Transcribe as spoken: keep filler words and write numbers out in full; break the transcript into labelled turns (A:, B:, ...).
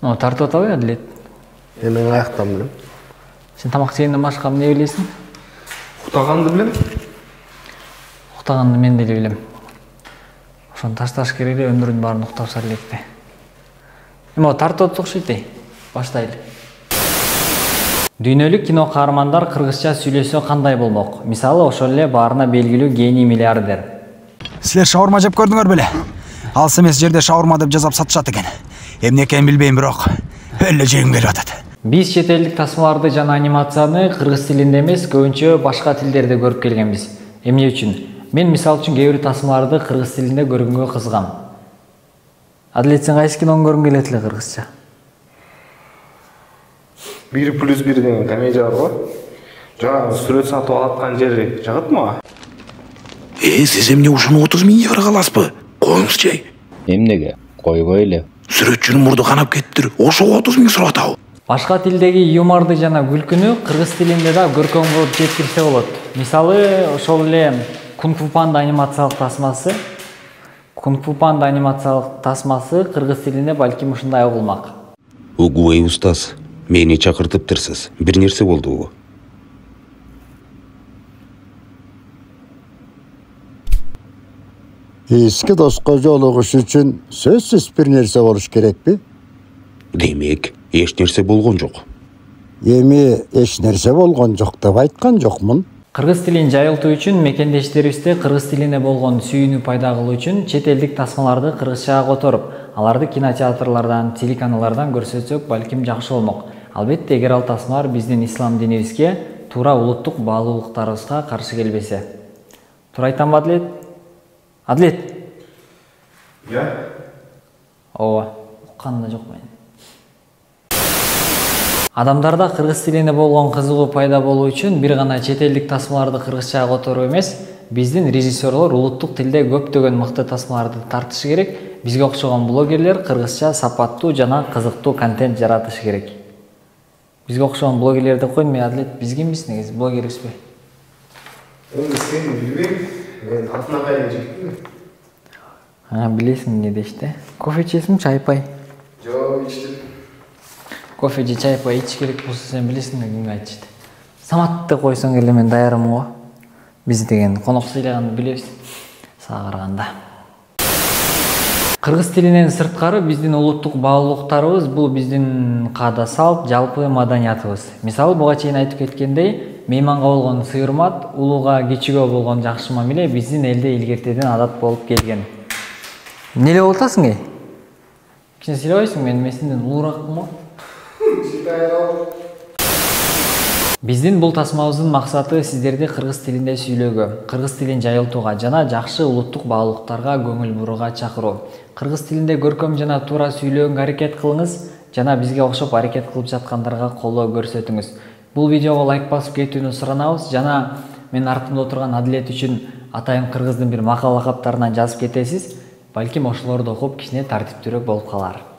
A: Ну, тартып атабы Адилет?
B: Мен аяктан билем.
A: Сен тамак жегенден башка эмне билесиң?
B: Уктаганды билем.
A: Уктаганды мен деле билем. Ошону ташташ керек эле, өмүрүнүн баарын уктап сар электе. Эми тартып атып окшойт. Баштайлы. Дүйнөлүк кино каармандар кыргызча сүйлөсө кандай болмок? Мисалы, ошол эле баарына белгилүү гений миллиардер.
C: Силер шаурма жеп көрдүңөр беле? Алыс эмес жерде шаурма деп жазап сатышат экен. Эмне экенин билбейм, бирок эле жегим келип атат.
A: Биз чет элдик тасмаларды жана анимацияны кыргыз тилинде эмес, көбүнчө башка тилдерде көрүп келгенбиз. Эмне үчүн? Мен мисал үчүн кээ бир тасмаларды кыргыз тилинде көргөнгө кызыгам. Адилет, сен кайсы кинону көргүң келет эле кыргызча?
B: бир плюс бир деген комедия бар го. Жана сүрөт сатып алаткан жери жагат мага.
D: Э, сиз эмне ушуну отуз миң еврого аласызбы? Коюңузчу.
E: Эмнеге? Койбой эле.
D: Сүрөтчүнүн мурду канап кетиптир. Ошого отуз миң сурап атабы?
A: Башка тилдеги юморду жана күлкүнү кыргыз тилинде да көркөм кылып жеткирсе болот. Мисалы, ошол эле Кунг-фу Панда анимациялык тасмасы. Кунг-фу Панда анимациялык тасмасы кыргыз тилинде балким ушундай угулмак.
D: Угубай устаз, мени чакыртыптырсыз. Бир нерсе болдубу?
F: Эски доско жолугуш үчүн сөзсүз бир нерсе болуш керекпи?
D: Демек, эч нерсе болгон жок.
F: Эми эч нерсе болгон жок деп айткан жокмун.
A: Кыргыз тилин жайылтуу үчүн мекендештерибизде кыргыз тилине болгон сүйүүнү пайда кылуу үчүн чет элдик тасмаларды кыргызчага которуп, аларды кинотеатрлардан, телеканалдардан көрсөтсөк балким жакшы болмок. Албетте, эгер ал тасмалар биздин ислам динибизге, туура улуттук баалуулуктарыбызга каршы келбесе. Туура айтамбы, Адилет? Адилет?
B: Я?
A: Ооба, укканым да жок мен. Адамдарда кыргыз тилине болгон кызыгуу пайда болуу үчүн бир гана чет элдик тасмаларды кыргызчага которуу эмес, биздин режиссерлор улуттук тилде көптөгөн мыкты тасмаларды тартышы керек. Бизге окшогон блогерлер кыргызча сапаттуу жана кызыктуу контент жаратышы керек. Бизге окшогон блогерлер деп койдум, Адилет, биз кимбиз негизи, блогербизби?
B: Эми сени билбейм. Мен атына кайын жектим.
A: А, билесиң эмне дешти? Кофе ичесиңби, чай-пай?
B: Жок, ичтим.
A: Кофе же чай-пай ич керек болсо сен билесиң, кимге айтышты? Саматты койсоң эле мен даярмын го. Биз деген конок сыйлаганды билебиз. Сага караганда. Кыргыз тилинен сырткары биздин улуттук баалуулуктарыбыз бул биздин каада салт, жалпы маданиятыбыз. Мисалы, буга чейин айтып кеткендей, мейманга болгон сый урмат, улууга, кичүүгө болгон жакшы мамиле биздин элде илгертеден адат болуп келген. Эмне эле болуп атасың, эй? Кичине сыйлабайсың, мен месинден улууракмын го. Биздин бул тасмабыздын максаты сиздерди кыргыз тилинде сүйлөөгө, кыргыз тилин жайылтууга жана жакшы улуттук баалуулуктарга көңүл бурууга чакыруу. Кыргыз тилинде көркөм жана туура сүйлөөгөнгө аракет кылыңыз жана бизге окшоп аракет кылып жаткандарга колдоо көрсөтүңүз. Бул видеого лайк басып кетүүнү суранабыз жана мен артымда отурган Адилет үчүн атайын кыргыздын бир макал лакаптарынан жазып кетесиз. Балким ошолорду окуп кичине тартиптүүрөөк болуп калар.